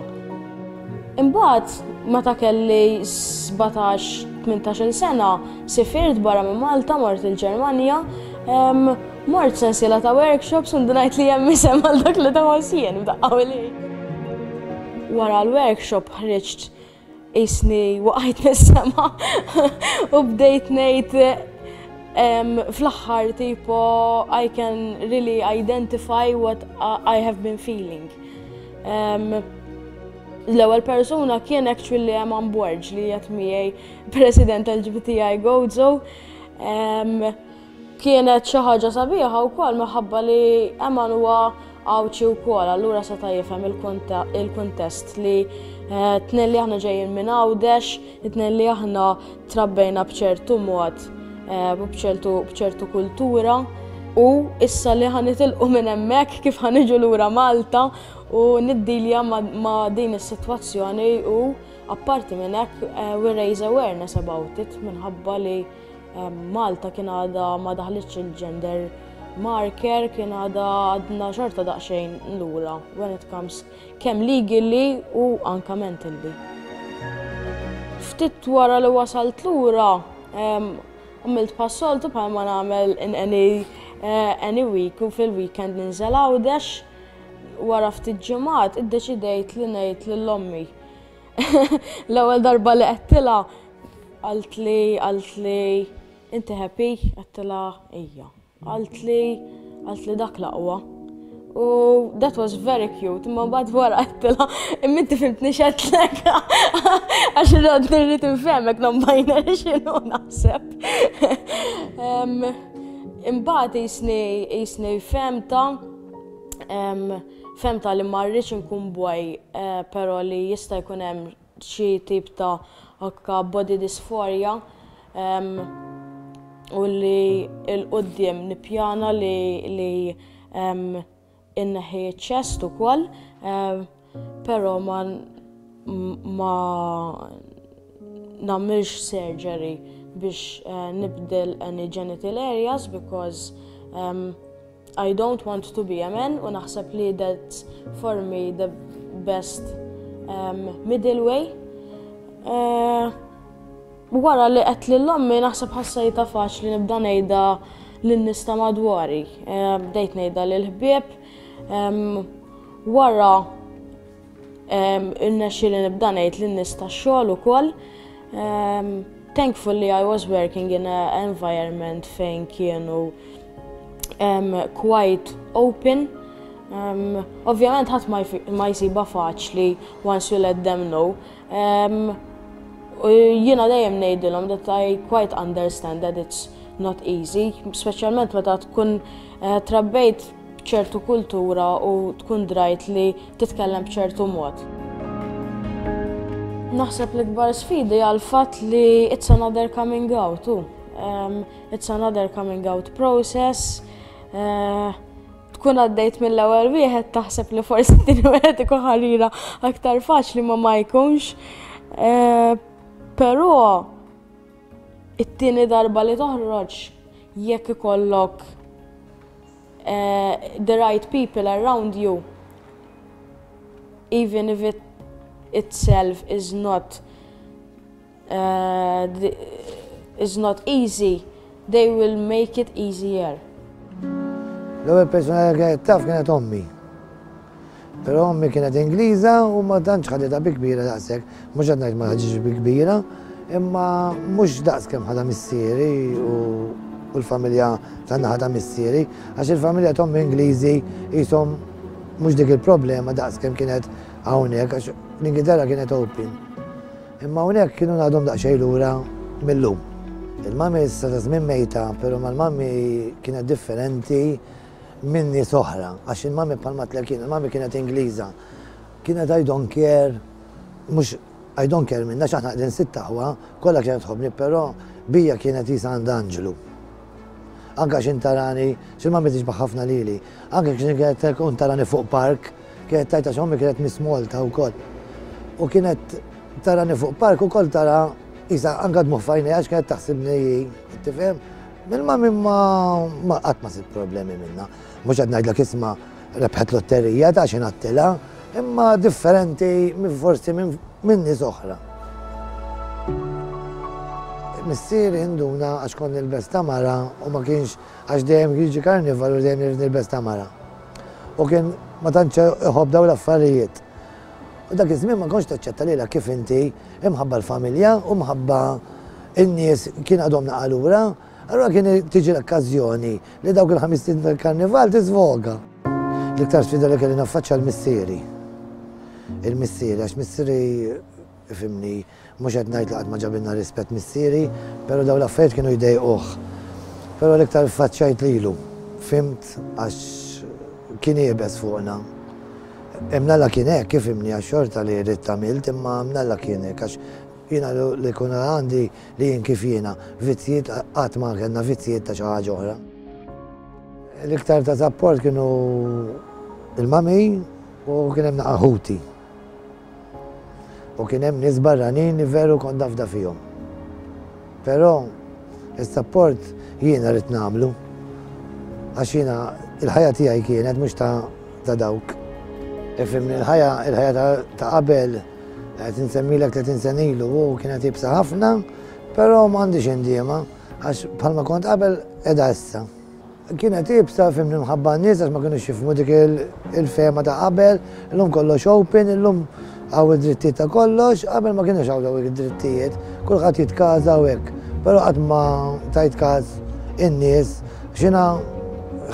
Imbagħad meta kelli sbatax tmintax-il sena, sifirt barra minn Malta, mort il-Ġermanja, mort sensiela ta' workshops u ndunajt li hemm isem għal dak li tħoss jien b'daqqa li. Wara l-workshop ħriġt qisni waqajt mis-sema u bdejt ngħid fl-aħħar tipo "I can really identify what I have been feeling." L-ewwel persuna kien actually Eman Borg li qiegħed miegħi, President L G B T I Gozo. Kienet xi ħaġa sabiħa wkoll minħabba li Eman huwa Għawdxi wkoll, allura seta' jifhem il-kuntest li eh, tnejn li aħna ġejjin minn Għawdex, tnejn li aħna trabbejna b'ċertu mod eh, u b'ċertu kultura u issa li ħa nitilqu minn hemmhekk, kif ħa niġu lura Malta u niddilja ma' din is-sitwazzjoni u apparti minn hekk eh, we raise awareness about it, minħabba li Malta kien għadha ma daħlitx il-gender marker, kien għadha għadna xorta daqsxejn lura when it comes kemm legally u anka mentally. Ftit wara li wasalt lura, għamilt bħas-soltu, bħalma nagħmel in any, uh, any week, u fil-weekend ninżel Għawdex. Wara ftit ġimgħat iddeċidejt li ngħid lil ommi. L-ewwel darba li għedtilha qaltli qaltli "Inti happy?" Għedtilha "Ija." Qaltli qaltli "Dak l-aqwa." U that was very cute, imma mbagħad wara għedtilha "Imma inti fhimtni x'għedtlek? Għax irrid nirrid nfehmek non-binary x'inhu naħseb." Imbagħad qisni qisni fhimtha fhimtha li ma rridx nkun boy, eh, però li jista' jkun hemm xi tip ta' anka body dysphoria u li 'l quddiem nippjana li li inneħi chest ukoll, però ma ma nagħmilx surgery biex uh, nibdel any genital areas because um, I don't want to be a man u naħseb li that's for me the best um, middle way. Uh, wara li għedt lil ommi, naħseb ħassajtha faċli nibda ngħidha lin-nies ta' madwari. Uh, bdejt ngħidha lill-ħbieb. Um, wara um, irnexxieli nibda ngħid lin-nies tax-xogħol ukoll. Um, thankfully I was working in an environment fejn kienu um, quite open. Um, Ovvjament ħadd ma jsibha faċli once you let them know. Um, u jiena dejjem ngħidilhom that I quite understand that it's not easy, speċjalment meta tkun uh, trabbejt ċertu kultura u tkun drajt li titkellem b'ċertu mod. Naħseb l-ikbar sfidi għal-fatt li it's another coming out. Um, it's another coming out process. Uh, tkun għaddejt mill-ewwel wieħed, taħseb li forsi t-tieni wieħed ikun ħarira aktar faċli, ma ma jkunx. Uh, però it-tieni darba li toħroġ, jekk ikollok uh, the right people around you, even if it itself is not uh, the, is not easy, they will make it easier. L-ewwel persona li kienet taf kienet ommi. Però ommi kienet Ingliża u ma tantx ħaditha bi kbira daqshekk. Mhux qed ngħid ma ħaditx bi kbira, imma mhux daqs kemm ħadha missieri u l-familja tan-naħa ta' missieri, għax il-familja t'ommi Ingliżi qishom mhux dik il-problema daqs kemm kienet hawnhekk, għax l-Ingilterra kienet open. Imma hawnhekk kienu għadhom daqsxejn lura mill-lum. Il-mami issa ta' żmien mejta, però mal-mami kienet differenti minn nies oħra, għax il-mami, bħalma kien, il-mami kienet Ingliża. Kienet "I don't care", mhux "I don't care" minna, aħna qegħdin sitta aħwa, kollha kienet tħobbni, però bija kienet qisha għandha anġlu. Anka xin tarani, xin mami tixbaħ ħafna lili, anka xin kienet tkun tarani fuq park, kienet tajta xommi kienet Miss Malta u koll. U kienet tarani fuq park u koll tara qisha anka dmugħ f'għajnejha għax kienet taħsibni, tifhem? Mill-mami ma ma qatt ma sibt problemi minna. Mhux qed ngħidlek isma' rebħet lotterija ta' xi ngħattilha. imma differenti minn forsi minn nies oħra. Missieri induna għax kont nilbes ta' mara u ma kienx għax dejjem jiġi karnival u dejjem nilbes ta' mara. U kien ma tantx iħobb dawn l-affarijiet. U dak iż-żmien ma kontx taċċetta lilha kif inti imħabba l-familja u mħabba in-nies kien għadhom naqa' lura, allura kien tiġi l-okkażjoni li dawk il-ħames tal-karnival tiżvoga. L-iktar sfida li kelli naffaċċja l-missieri. Il-missieri, għax missieri ifhimni, mhux qed ngħid li qatt ma ġabilna rispett missieri, però dawn l-affarijiet kienu jdejquh. Però l-iktar faċċajt lilu, fhimt għax kien iebes fuqna. Imnalla kien hekk, kif ifhimni għax xorta li rrid għamilt, imma imnalla kien hekk għax jiena li kun għandi li jien kif jiena, vizzjiet qatt ma kellna vizzjiet ta' xi ħaġa oħra. L-iktar ta' support kienu il-mami u kien hemm naqa' ħuti. U kien hemm nies barranin li veru kont nafda fihom. Però is-support jiena rrid nagħmlu għax jiena il-ħajja tiegħi kienet mhux ta' dawk. Ifhimni il-ħajja il-ħajja ta' qabel qed insemmilek tletin sena ilu u kienet iebsa ħafna, però m'għandix indiema għax bħalma kont qabel qiegħda issa. Kienet iebsa fhimni mħabba n-nies għax ma kinux jifhmu dik il-fehma ta' qabel, illum kollox open, illum hawn id-drittijiet ta' kollox, qabel ma kienux hawn dawk id-drittijiet, kulħadd jitkaża u hekk, però qatt ma tajt każ in-nies, x'jiena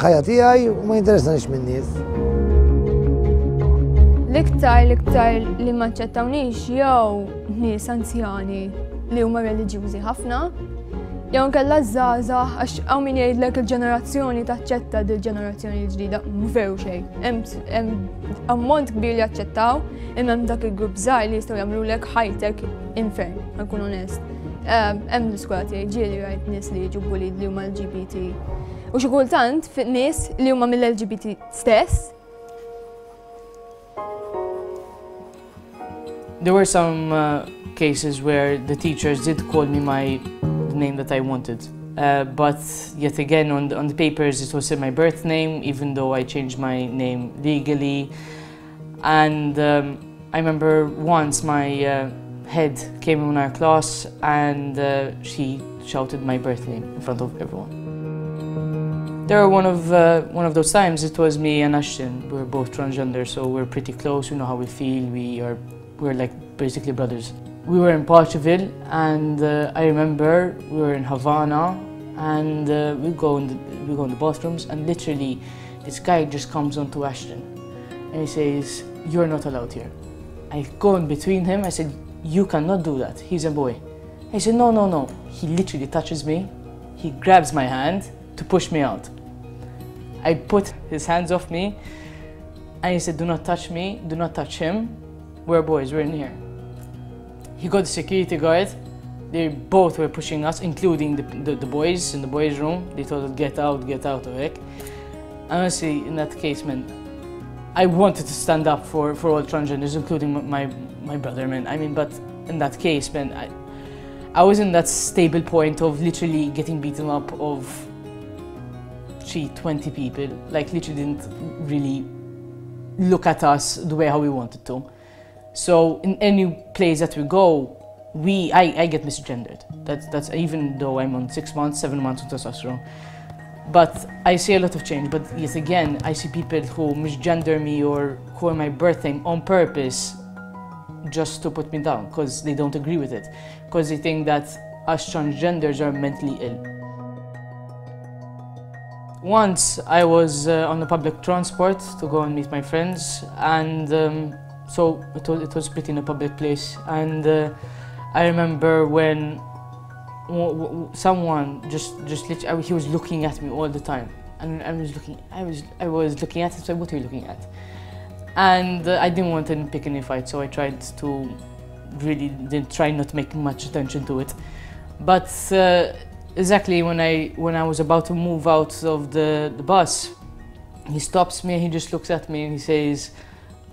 ħajja tiegħi u ma jinteressanix min-nies. L-iktar l-iktar li ma aċċettawnix jew nies anzjani li huma reliġjużi ħafna, jew nkella żgħażagħ għax hawn min jgħidlek il-ġenerazzjoni taċċetta dil-ġenerazzjoni l-ġdida, mhu veru xejn. Hemm ammont kbir li aċċettaw, imma hemm dak il-grupp żgħar li jistgħu jagħmlulek ħajtek infern, ħa nkun onest. Hemm l-iskola tiegħi ġieli rajt nies li jiġu bullied li huma L G B T. U xi kultant nies li huma mill-L G B T stess. There were some, uh, cases where the teachers did call me my the name that I wanted, uh, but yet again on the, on the papers it was my birth name, even though I changed my name legally. And, um, I remember once my, uh, head came in our class and, uh, she shouted my birth name in front of everyone. There were one of, uh, one of those times it was me and Ashton. We were both transgender, so we're pretty close. We know how we feel. We are we're like basically brothers. We were in Paceville, and, uh, I remember we were in Havana, and, uh, we go in the, we go in the bathrooms, and literally this guy just comes onto Ashton, and he says, You're not allowed here. I go in between him. I said, You cannot do that. He's a boy. He said, No, no, no. He literally touches me. He grabs my hand to push me out. I put his hands off me, and he said, Do not touch me. Do not touch him. We're boys, we're in here. He got the security guard. They both were pushing us, including the, the, the boys in the boys' room. They told us, get out, get out of it. Honestly, in that case, man, I wanted to stand up for, for all transgenders, including my, my brother, man. I mean, but in that case, man, I, I was in that stable point of literally getting beaten up of three, twenty people. Like, literally didn't really look at us the way how we wanted to. So in any place that we go, we, I, I get misgendered. That's, that's even though I'm on six months, seven months on testosterone. But I see a lot of change, but yet again, I see people who misgender me or call my birth name on purpose just to put me down, 'cause they don't agree with it, 'cause they think that us transgenders are mentally ill. Once I was, uh, on the public transport to go and meet my friends, and, um, so it was, it was pretty in a public place, and, uh, I remember when w-, w-, someone just, just literally, he was looking at me all the time, and I was looking, I was, I was looking at him, so what are you looking at? And, uh, I didn't want to pick any fight, so I tried to really didn't try not to make much attention to it. But, uh, exactly when I, when I was about to move out of the, the bus, he stops me and he just looks at me and he says,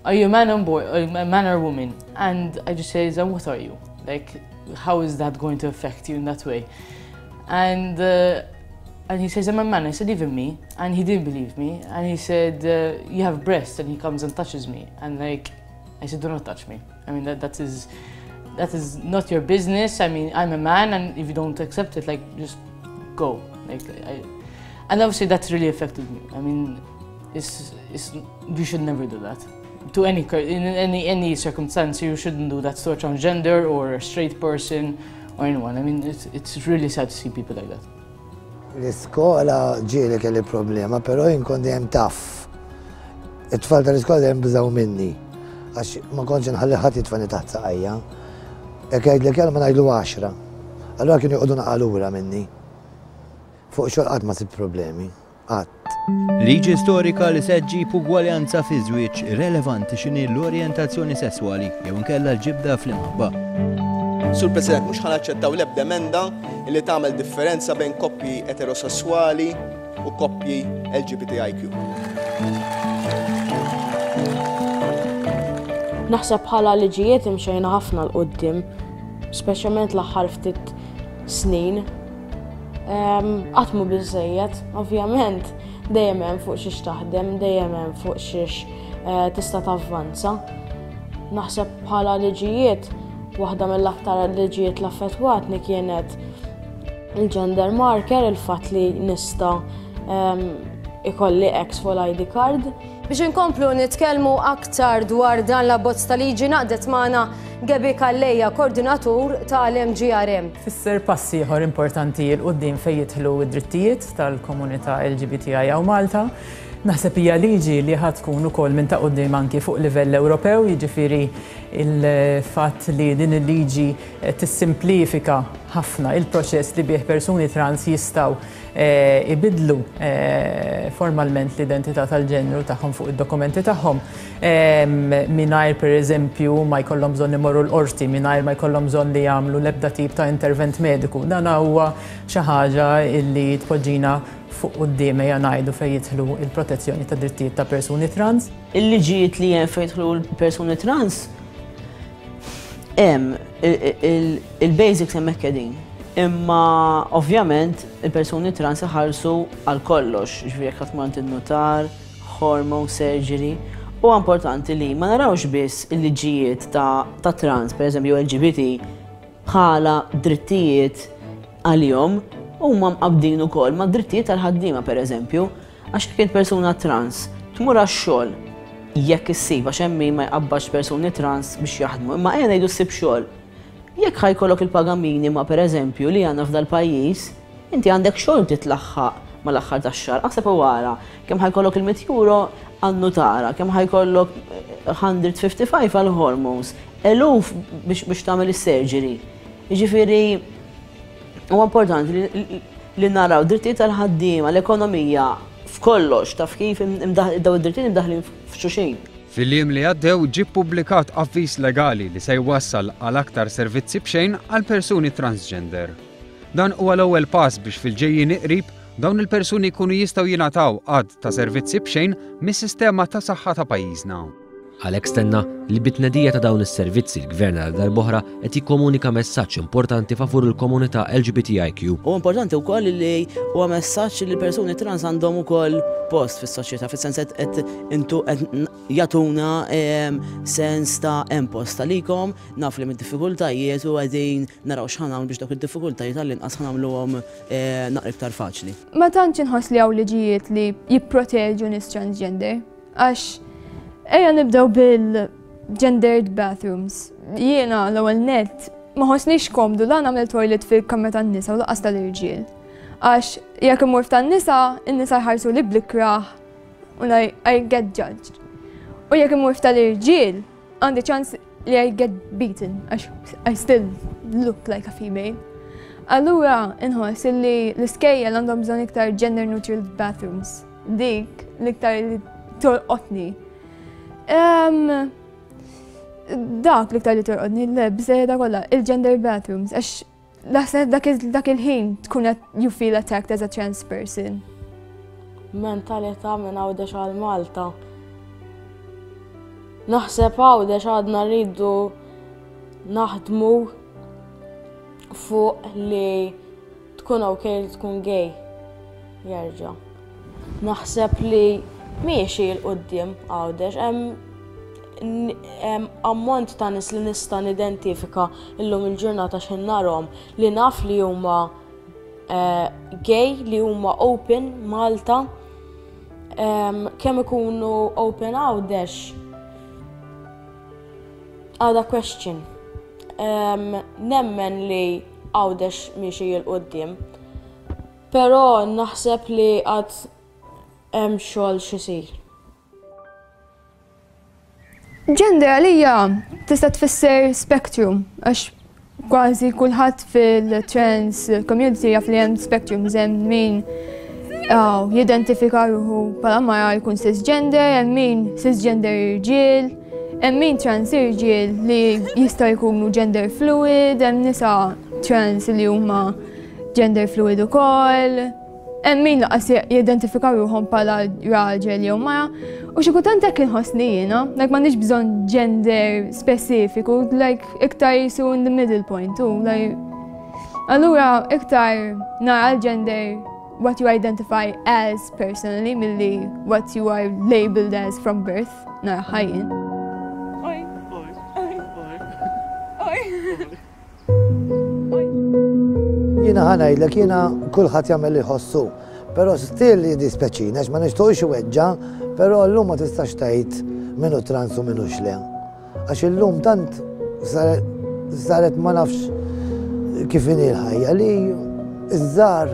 Are you a man or boy, a man or woman? And I just say, And what are you? Like, how is that going to affect you in that way? And, uh, And he says, I'm a man. I said, even me. And he didn't believe me. And he said, uh, you have breasts. And he comes and touches me. And like, I said, do not touch me. I mean, that, that is, that is not your business. I mean, I'm a man, and if you don't accept it, like, just go. Like, I, and obviously that's really affected me. I mean, it's, it's, you should never do that. To any, in any, any circumstance, you shouldn't do that to a transgender or a straight person or anyone. I mean, it's, it's really sad to see people like that. L-iskola ġieli kelli problema, però jien kont dejjem taf. It-tfal tal-iskola dejjem beżgħu minni. Għax ma kontx nħalli ħadd jitfani taħt saqajja. Jekk jgħidlek kelma ngħidlu għaxra. Allura kienu joqogħdu naqa lura minni. Fuq xogħol qatt ma sibt problemi. Qatt. Liġi storika li se ġġib ugwaljanza fi żwieġ irrelevanti x'inhi l-orjentazzjoni sesswali jew inkella l-ġibda fl-imħabba. Sur President, mhux ħa naċċettaw l-ebda emenda li tagħmel differenza bejn koppji eterosessuali u koppji L G B T I Q. Naħseb bħala liġijiet imxejna ħafna 'l quddiem, speċjalment l-aħħar ftit snin. Qatt mhu biżejjed, ovvjament, dejjem hemm fuq xiex taħdem, dejjem hemm fuq xiex eh, tista' tavvanza. Naħseb bħala liġijiet, waħda mill-aktar liġijiet li affettwatni kienet il-gender marker, il-fatt li nista' ikolli X fuq l-I D card. Biex inkomplu nitkellmu aktar dwar dan l-abbozz ta' liġi, ngħaqdet magħna Gabi Calleja, koordinatur tal-M G R M. Fisser pass ieħor importanti 'l quddiem fejn jidħlu id-drittijiet tal-komunità L G B T I hawn Malta. Naħseb hija liġi li ħa tkun ukoll minn ta' quddiem anki fuq livell Ewropew, jiġifieri il-fatt li din il-liġi tissimplifika ħafna il-proċess li bih persuni trans jistgħu eh, ibidlu eh, formalment l-identità tal-ġenru tagħhom fuq id-dokumenti tagħhom mingħajr, pereżempju, ma jkollhom bżonn imorru l-qorti, mingħajr ma jkollhom bżonn li jagħmlu l-ebda tip ta' intervent mediku. Dan huwa xi ħaġa li tpoġġina fuq quddiem, ejja ngħidu, fejn jidħlu il-protezzjoni ta' drittijiet ta' persuni trans. Il-liġijiet li hemm fejn jidħlu l-persuni trans hemm il-basics, hemmhekk qegħdin. Imma ovvjament il-persuni trans iħallsu għal kollox, ġifieri jekk tmur in-nutar, hormone surgery. U importanti li ma narawx biss il-liġijiet ta', ta trans, per eżempju L G B T, bħala drittijiet għalihom, huma mqabbdin ukoll ma' drittijiet tal-ħaddiema, per eżempju, għax jekk persuna trans tmur għax-xogħol, jekk issib, għax hemm min ma jqabbax persuni trans biex jaħdmu, imma ejja ngħidu ssib xogħol. Jekk ħa jkollok il-paga minima, per eżempju, li għandna f'dal pajjiż, inti għandek xogħol titlaħħaq mal-aħħar tax-xahar. Aħseb wara kemm ħa jkollok il-mitt euro għan-nutara, kemm ħa jkollok mija u ħamsa u ħamsin għal hormones, eluf biex biex tagħmel is-surgery. Jiġifieri huwa importanti li, li naraw drittijiet tal-ħaddiema, l-ekonomija, f'kollox, taf kif daw id-drittijiet imdaħlin f'xulxin. Fil-jiem li għaddew ġie ppubblikat avviż legali li se jwassal għal aktar servizzi b'xejn għal persuni transgender. Dan huwa l-ewwel pass biex fil-ġejjin qrib dawn il-persuni jkunu jistgħu jingħataw għadd ta' servizzi b'xejn mis-sistema ta' saħħa ta' pajjiżna. Għalhekk stenna li bit-tnedija ta' dawn is-servizzi l-gvern għal darb'oħra qed jikkomunika messaġġ importanti favur il-komunità L G B T I Q. U importanti wkoll li huwa messaġġ li persuni trans għandhom ukoll post fis-soċjetà, fis-sens qed intu qed jagħtuna sens ta' hemm post għalikom, naf li mid-diffikultajiet u qegħdin naraw x'ħa nagħmlu biex dawk id-diffikultajiet għall-inqas ħa nagħmluhom eh, naqra iktar faċli. Ma tantx inħoss li hawn liġijiet li jipproteġu nies transgender, għax ejja nibdew bil-gendered bathrooms. Jiena l-ewwel net ma ħossnix komdu la nagħmel toilet fil-kamra tan-nisa u lanqas tal-irġiel. Għax jekk imur tan-nisa, in-nisa jħarsu li bl-ikrah u I, I get judged. U jekk imur tal-irġiel, għandi ċans li I get beaten, għax I still look like a female. Allura inħoss li l-iskejjel għandhom bżonn iktar gender neutral bathrooms. Dik l-iktar li tolqotni. Um, dak l-iktar li tolqotni, le, bżejda kollha, il-gender bathrooms, għax naħseb dak il-ħin tkun qed you feel attacked as a trans person. Mentalità minn Għawdex għal Malta. Naħseb Għawdex għadna rridu naħdmu fuq li tkun ok li tkun gay. Jerġa'. Naħseb li miexi 'l quddiem Għawdex, hemm ammont ta' nies li nista' nidentifika illum il-ġurnata x'ħin narahom li naf li huma eh, gay, li huma open Malta. Kemm ikunu open Għawdex għada question. Nemmen li Għawdex miexi 'l quddiem. Però naħseb li għad hemm xogħol x'isir. Gender għalija tista' tfisser spectrum, għax kważi kulħadd fil-trans community jaf li hemm spectrum, hemm min jidentifika ruħu bħala mara jkun cisgender, hemm min cisgender irġiel, hemm min trans irġiel li jista' jkunu gender fluid, hemm nisa trans li huma gender fluid ukoll. Hemm min lanqas jidentifika ruħhom bħala raġel jew mara. U xi kultant hekk inħossni jiena, like m'għandix bżonn gender speċifiku, like iktar jisu in the middle point, u like allura iktar nara l-gender what you identify as personally milli what you are labeled as from birth, nara ħajjin. Oj, oj, oj, oj, oj. Jiena ħa ngħidlek, jiena kulħadd jagħmel li jħossu, però still jiddispjaċini għax ma nixtieqx iweġġa', però llum ma tistax tgħid min hu trans u min hux le. Għax illum tant saret ma nafx kif inhi l-ħajja li iż-żgħar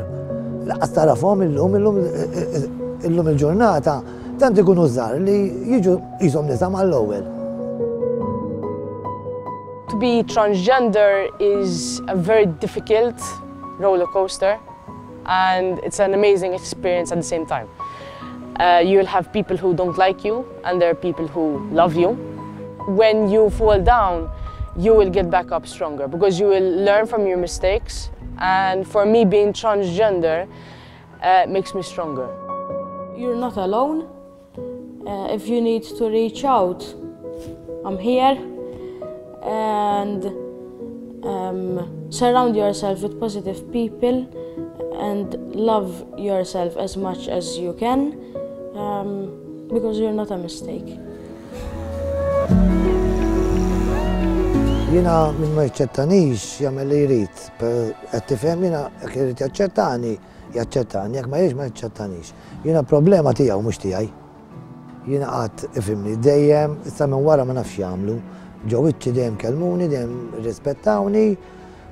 lanqas tarafhom illum, illum illum il-ġurnata tant ikunu żgħar li jiġu qishom nisa mal-ewwel. To be transgender is a very difficult roller coaster, and it's an amazing experience at the same time. Uh, you'll have people who don't like you, and there are people who love you. When you fall down, you will get back up stronger because you will learn from your mistakes. And for me, being transgender uh, makes me stronger. You're not alone. Uh, if you need to reach out, I'm here. And um, surround yourself with positive people and love yourself as much as you can, um, because you're not a mistake. Jiena min ma jaċċettanix jagħmel li jrid, qed tifhem, jiena jekk irid jaċċettani, jaċċettani, jekk ma jridx ma jaċċettanix. Jiena problema tiegħu mhux tiegħi. Jiena qatt ifhimni dejjem, issa minn wara ma nafx jagħmlu. Ġo wiċċi dejjem kellmuni, dejjem rispettawni,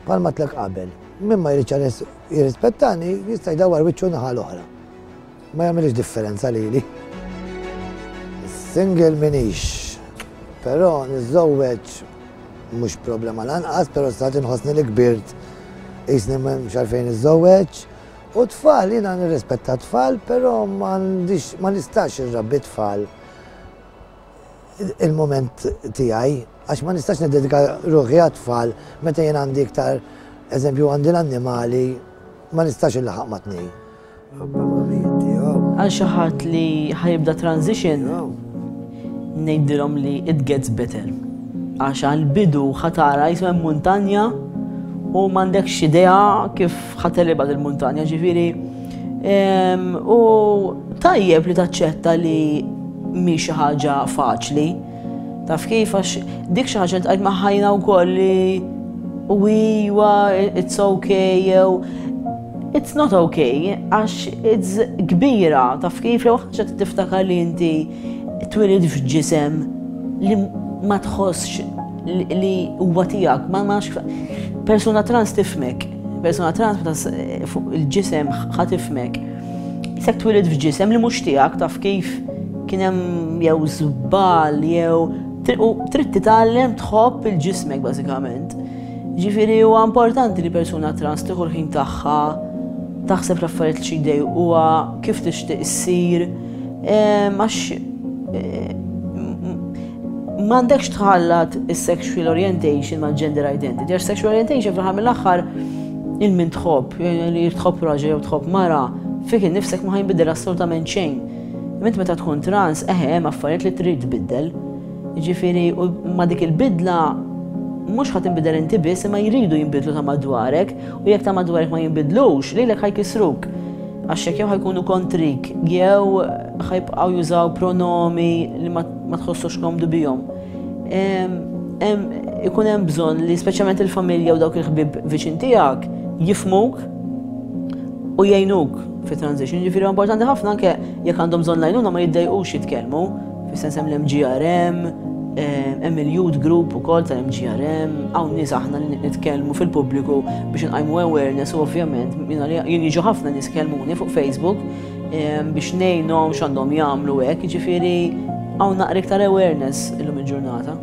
bħalma tlek qabel. Min ma jridx jirrispettani jista' jdawwar wiċċu naħa l-oħra. Ma jagħmilx differenza lili. Single minix, però niżżewweġ mhux problema lanqas, però stat inħossni li kbirt qisni m'hemmx għalfejn niżżewweġ. U tfal, jiena nirrispetta tfal, però m'għandix, ma nistax irrabbi tfal il-moment tiegħi, għax ma nistax niddedika ruħi għat-tfal meta jien għandi iktar, eżempju għandi l-annimali, ma nistax illaħaq ma' tnejn. Għal xi ħadd li ħajibda transition, ngħidilhom li it gets better. Għax għal-bidu ħa tara jisma muntanja u m'għandekx idea kif ħa tegħlibha il-muntanja, ġifieri. U tajjeb li taċċetta li mhi xi ħaġa faċli. Taf kif, għax dik xi ħaġa li tqajt maħħajna wkoll li u iwa it's okay jew it's not okay, għax it's kbira, taf kif, jew ħaġa tiftakar li inti twilid f'ġisem li ma tħossx li huwa tiegħek, ma nafx persuna trans tifhmek, persuna trans meta fuq il-ġisem ħa tifhmek. Isek twilid f'ġisem li mhux tiegħek, taf kif kien hemm jew żball jew u trid titgħallem tħobb il-ġismek bażikament. Ġifieri huwa importanti li persuna trans tieħu l-ħin tagħha, taħseb l-affarijiet li xi jdejquha, kif tixtieq issir, għax m'għandekx tħallat is-sexual orientation ma' gender identity. Għax sexual orientation fl-aħħar mill-aħħar il-min tħobb, li tħobb raġel jew tħobb mara, fik innifsek ma ħajnbidel assolutament xejn. Int meta tkun trans, eħe hemm affarijiet li trid tbiddel. Ġifieri, u ma dik il-bidla mhux ħa tinbidel inti biss, imma jridu jinbidlu ta' madwarek, u jekk ta' madwarek ma jinbidlux, lilek ħa jkissruk. Għax jekk jew ħa jkunu kontrik, jew ħa jibqgħu jużaw pronomi li ma tħossux komdu bihom. Ikun hemm bżonn li speċjalment il-familja u dawk il-ħbieb viċin tiegħek jifhmuk u jgħinuk fi transition. Ġifieri importanti ħafna anke jekk għandhom bżonn l-għajnuna ma jiddejqux jitkellmu. Fis-sens hemm l-M G R M, hemm il-youth group ukoll tal-M G R M, hawn nies aħna li nitkellmu fil-pubbliku biex nqajmu awareness u ovvjament jien jiġu ħafna nies kellmuni fuq Facebook biex ngħinhom x'għandhom jagħmlu hekk, jiġifieri hawn naqra iktar awareness illum il-ġurnata.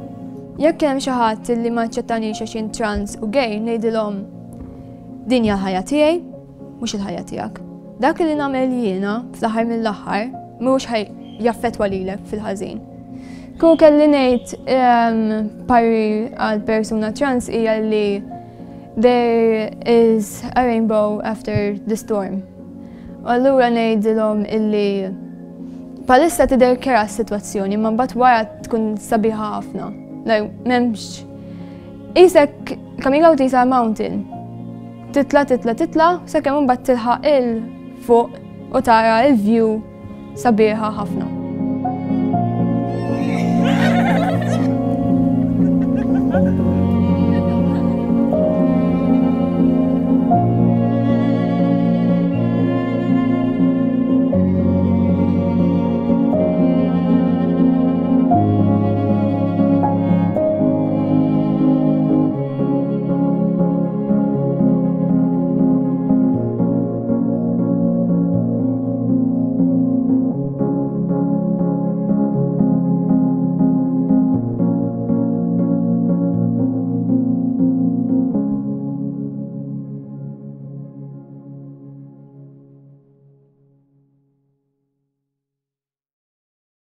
Jekk hemm xi ħadd li ma aċċettanix għax jien trans u gay, ngħidilhom din hija l-ħajja tiegħi, mhux il-ħajja tiegħek. Dak li nagħmel jiena fl-aħħar mill-aħħar mhux ħa jaffettwa lilek fil-ħażin. Kieku kelli ngħid parir għal persuna trans hija li there is a rainbow after the storm. U allura ngħidilhom illi bħalissa tidher kerha s-sitwazzjoni, ma mbagħad wara tkun sabiħa ħafna. Like, m'hemmx. Qisek coming out is a mountain. Titla, titla, titla, sakemm mbagħad tilħaq 'il fuq u tara il-view sabiħa ħafna.